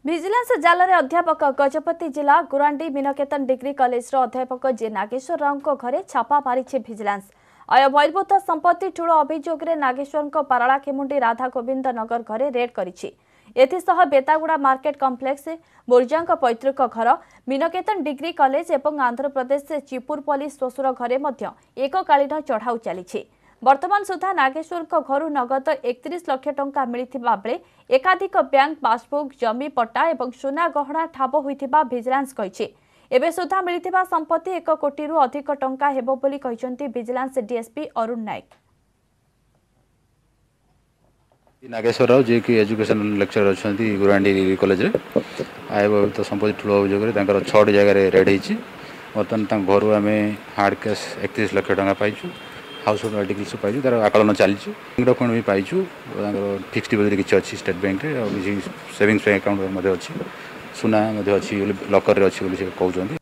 Vigilance ଜାଲରେ ଅଧ୍ୟାପକ। ଗଜପତି ଜିଲ୍ଲା ଗୁରାଣ୍ଡି ମୀନକେତନ ଡିଗ୍ରୀ କଲେଜର ଅଧ୍ୟାପକ ଜେ ନାଗେଶ୍ୱର ରାଓଙ୍କ ଘରେ ଛାପା ମାରିଛି ଭିଜିଲାନ୍ସ। ଆୟ ବହିର୍ଭୂତ ସମ୍ପତ୍ତି ଠୁଳ ଅଭିଯୋଗରେ ନାଗେଶ୍ୱରଙ୍କ ପାରଳାଖେମୁଣ୍ଡି ରାଧାଗୋବିନ୍ଦ ନଗର ଘରେ ରେଡ୍ କରିଛି। ଏଥିସହ ବେତାଗୁଡ଼ା ମାର୍କେଟ କମ୍ପ୍ଲେକ୍ସ, ବୋର୍ଜାଙ୍କ ପୈତୃକ ଘର, ମୀନକେତନ ଡିଗ୍ରୀ କଲେଜ ଏବଂ ଆନ୍ଧ୍ରପ୍ରଦେଶ ଚିପୁରପଲ୍ଲୀ ଶ୍ୱଶୁର ଘରେ ମଧ୍ୟ ଏକକାଳୀନ ଚଢ଼ାଉ ଚାଲିଛି। ବର୍ତ୍ତମାନ ସୁଦ୍ଧା ନାଗେଶ୍ୱରଙ୍କ ଘରୁ ନଗଦ 31 ଲକ୍ଷ ଟଙ୍କା ମିଳିଥିବା ବେଳେ ଏକାଧିକ ବ୍ୟାଙ୍କ ପାସବୁକ୍, ଜମି ପଟ୍ଟା ଏବଂ ସୁନା ଗହଣା ଠାବ ହୋଇଥିବା ଭିଜିଲାନ୍ସ କହିଛି। ଏବେ ସୁଦ୍ଧା ମିଳିଥିବା ସମ୍ପତ୍ତି 1 କୋଟିରୁ ଅଧିକ ଟଙ୍କା ହେବ ବୋଲି କହିଛନ୍ତି ଭିଜିଲାନ୍ସ ଡିଏସ୍ପି ଅରୁଣ ନାୟକ। ନାଗେଶ୍ୱର ରାଓ, ଯିଏକି ଏଜୁକେସନ୍ ଲେକ୍ଚର ଅଛନ୍ତି ଗୁରାଣ୍ଡି କଲେଜରେ, ଆୟ ବହିର୍ଭୂତ ସମ୍ପତ୍ତି ଠୁଳ ଅଭିଯୋଗରେ ତାଙ୍କର 6ଟି ଜାଗାରେ ରେଡ୍ ହେଇଛି। ବର୍ତ୍ତମାନ ତାଙ୍କ ଘରୁ ଆମେ ହାର୍ଡ଼ କ୍ୟାସ୍ 31 ଲକ୍ଷ ଟଙ୍କା ପାଇଛୁ, ହାଉସ୍ ହୋଲ୍ଡ ଆର୍ଟିକଲ୍ସ ପାଇଛୁ, ତାର ଆକଳନ ଚାଲିଛି। ଡକ୍ୟୁମେଣ୍ଟ ବି ପାଇଛୁ। ତାଙ୍କର ଫିକ୍ସଡ ଡିପୋଜିଟ୍ କିଛି ଅଛି ଷ୍ଟେଟ୍ ବ୍ୟାଙ୍କରେ, ଆଉ କିଛି ସେଭିଙ୍ଗସ୍ ବ୍ୟାଙ୍କ ଆକାଉଣ୍ଟ ମଧ୍ୟ ଅଛି, ସୁନା ମଧ୍ୟ ଅଛି ବୋଲି ଲକରରେ ଅଛି ବୋଲି ସେ କହୁଛନ୍ତି।